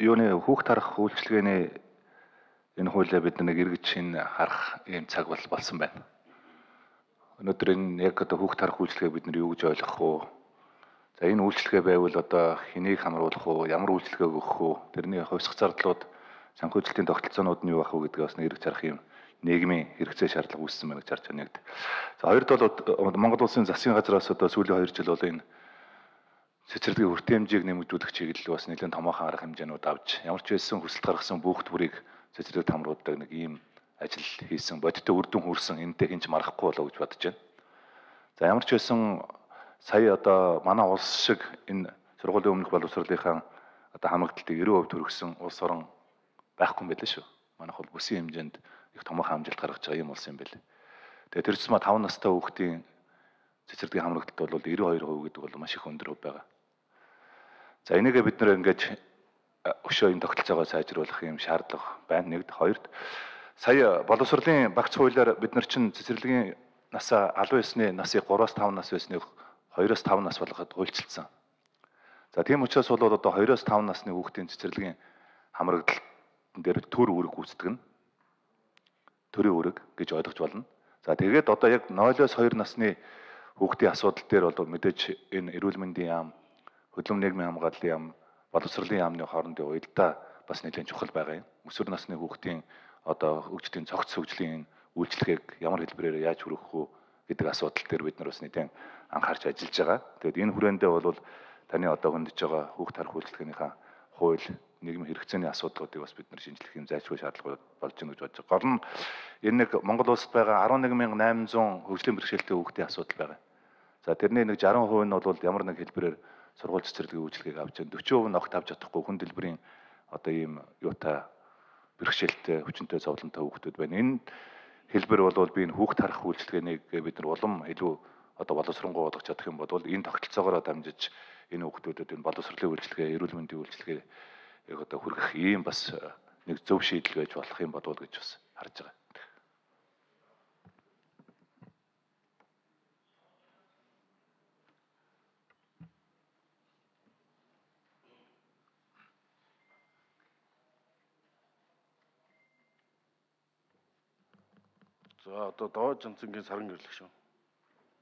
Юуны хүүхд харах үйлчилгээний энэ хуулиа бид нэг эргэж шин харах ийм цаг болсон байна. Өнөөдөр энэ яг одоо хүүхд харах үйлчилгээг бид нар юу гэж ойлгох вэ? За энэ үйлчилгээ байвал одоо хэнийг хамруулах вэ? Ямар үйлчилгээг өгөх вэ? Тэрний хувьсах зардлууд, санхүүжилтийн тогтолцоонууд нь юу байх вэ гэдгийг бас эргэж харах юм нийгмийн хэрэгцээ шаардлага үүссэн байна гэж харж байна. За хоёрд бол Монгол Улсын засгийн газраас одоо сүүлийн 2 жил бол энэ цэцэрлэгийн хүртээмжийг нэмэгдүүлэх чиглэл бас нэлээд томоохон арга хэмжээнүүд авч ямар ч байсан хүсэлт гаргасан бүх бүрийг цэцэрлэгт хамруулдаг нэг ийм ажил хийсэн, бодиттой үр дүн хүрсэн, энэтэй хинч марахгүй болоо гэж бодож байна. За ямар ч байсан сая одоо манай улс шиг энэ сургуулийн өмнөх боловсролынхаа одоо хамгаалтыг 90% төрөгсөн улс орон байхгүй юм байлаа шүү. Манайх бол бүсийн хэмжээнд их томоохон амжилт гаргаж байгаа юм улс юм байл. Тэгээд тэр чинь 5 настай хүүхдийн цэцэрлэгийн хамрагталт бол 92% гэдэг бол маш их өндөр хувь байгаа. За энийгээ бид нэр ингэж өшөө энэ тогтолцоогоо сайжруулах юм шаардлага байна. Нэгд, хоёрд сая боловсролын багц хуулиар бид нар чинь цэцэрлэгийн насаа албан ёсны насыг 3-5 нас байсныг 2-5 нас болгоход хуульчилсан. За тийм учраас бол одоо 2-5 насны хүүхдийн цэцэрлэгийн хамрагдлалт дээр төр үүрэг гүйцэтгэх нь төрийн үүрэг гэж ойлгож болно. За тэгээд одоо яг 0-2 насны хүүхдийн асуудал дээр бол мэдээж энэ эрүүл мэндийн яам, хөдөлмөр нийгмийн хамгааллын яам, боловсролын яамны хоорондын уялдаа бас нэлээд чухал байгаа юм. Өсвөр насны хүүхдийн одоо хөгжлийн цогц хөгжлийн үйлчлэгийг ямар хэлбэрээр яаж хүргэх вэ гэдэг асуудал дээр бид нар бас нэлээд анхаарч ажиллаж байгаа. Тэгээд энэ хүрээндээ бол таны одоо хөндөж байгаа хүүхд харах үйлчлэгийнхаа хууль, нийгмийн хэрэгцээний асуудлуудыг бас бид нар шинжлэх юм зайлшгүй шаардлага болж байна гэж бодож байгаа. Гол нь энэ нэг Монгол улсад байгаа 11800 хөгжлийн бэрхшээлтэй хүүхдийн асуудал байгаа. За тэрний нэг 60% нь бол ямар нэг хэлбэрээр сургууль цэцэрлэгийн үйлчлэгийг авч байна. 40% нь огт авч чадахгүй хүн дэлбэрийн одоо ийм юутай бэрхшээлтэй, хүчинтэй зовлонтой хүүхдүүд байна. Энэ хэлбэр бол би энэ хүүхд харах үйлчлэгэнийг бид нар улам илүү одоо боловсронгуй болгож чадах юм бол энэ тогтолцоогоор дамжиж энэ хүүхдүүдэд энэ боловсролын үйлчлэгээ, эрүүл мэндийн үйлчлэгээ одоо хүргэх ийм бас нэг зөв шийдэл байж болох юм бодвол гэж бас харж байгаа. За одоо Доод Жанцангийн Саран гэрлэх шүү.